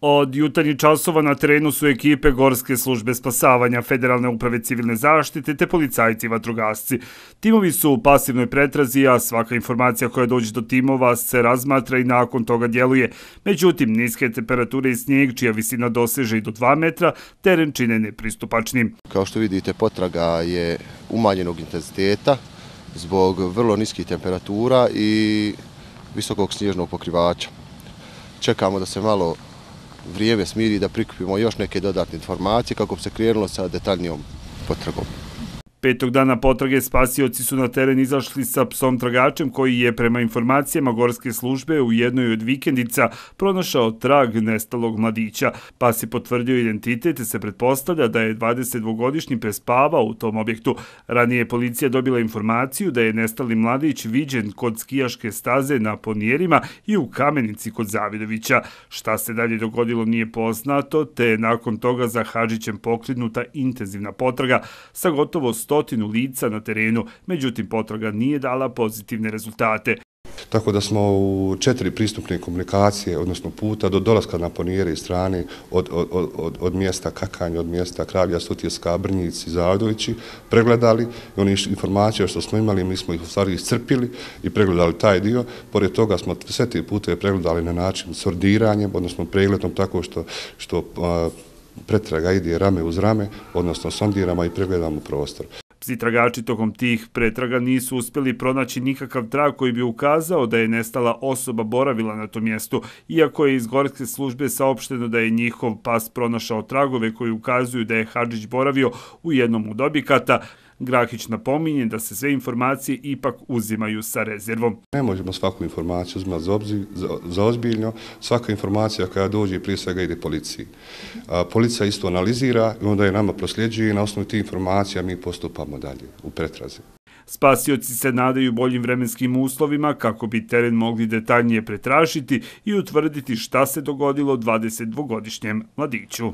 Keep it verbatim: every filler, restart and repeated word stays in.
Od jutarnjih časova na terenu su ekipe Gorske službe spasavanja, Federalne uprave civilne zaštite te policajci i vatrogasci. Timovi su u pasivnoj pretrazi, a svaka informacija koja dođe do timova se razmatra i nakon toga djeluje. Međutim, niske temperature i snijeg, čija visina doseže i do dva metra, teren čine nepristupačnim. Kao što vidite, potraga je umanjenog intenziteta zbog vrlo niskih temperatura i visokog snježnog pokrivača. Čekamo da se malo vrijeme smiri, da prikupimo još neke dodatne informacije kako bi se krenulo sa detaljnijom potragom. Petog dana potrage spasioci su na teren izašli sa psom tragačem koji je prema informacijama Gorske službe u jednoj od vikendica pronašao trag nestalog mladića. Pas je potvrdio identitet i se pretpostavlja da je dvadesetdvogodišnji prespavao u tom objektu. Ranije je policija dobila informaciju da je nestali mladić viđen kod skijaške staze na Ponijerima i u Kamenici kod Zavidovića. Šta se dalje dogodilo nije poznato, te je nakon toga za Hadžićem pokrenuta intenzivna potraga sa gotovo stotinu lica na terenu, međutim potraga nije dala pozitivne rezultate. Tako da smo u četiri pristupne komunikacije, odnosno puta do dolaska na Ponijere i strane od, od, od, od mjesta Kakanje, od mjesta Kralja, Sutjeska, Brnjici, Zavidovići, pregledali i oni informacije što smo imali, mi smo ih u stvari iscrpili i pregledali taj dio. Pored toga smo sve te puteve pregledali na način sordiranjem, odnosno pregledom tako što, što a, pretraga ide rame uz rame, odnosno sondiramo i pregledamo prostor. Psi tragači tokom tih pretraga nisu uspjeli pronaći nikakav trag koji bi ukazao da je nestala osoba boravila na tom mjestu, iako je iz Gorske službe saopšteno da je njihov pas pronašao tragove koji ukazuju da je Hadžić boravio u jednom od objekata. Grahić napominje da se sve informacije ipak uzimaju sa rezervom. Ne možemo svaku informaciju uzimati za, obzir, za, za ozbiljno. Svaka informacija koja dođe prije svega ide policiji. A, policija isto analizira i onda je nama prosljeđuje i na osnovu tih informacija mi postupamo dalje u pretrazi. Spasioci se nadaju boljim vremenskim uslovima kako bi teren mogli detaljnije pretražiti i utvrditi šta se dogodilo dvadesetdvogodišnjem mladiću.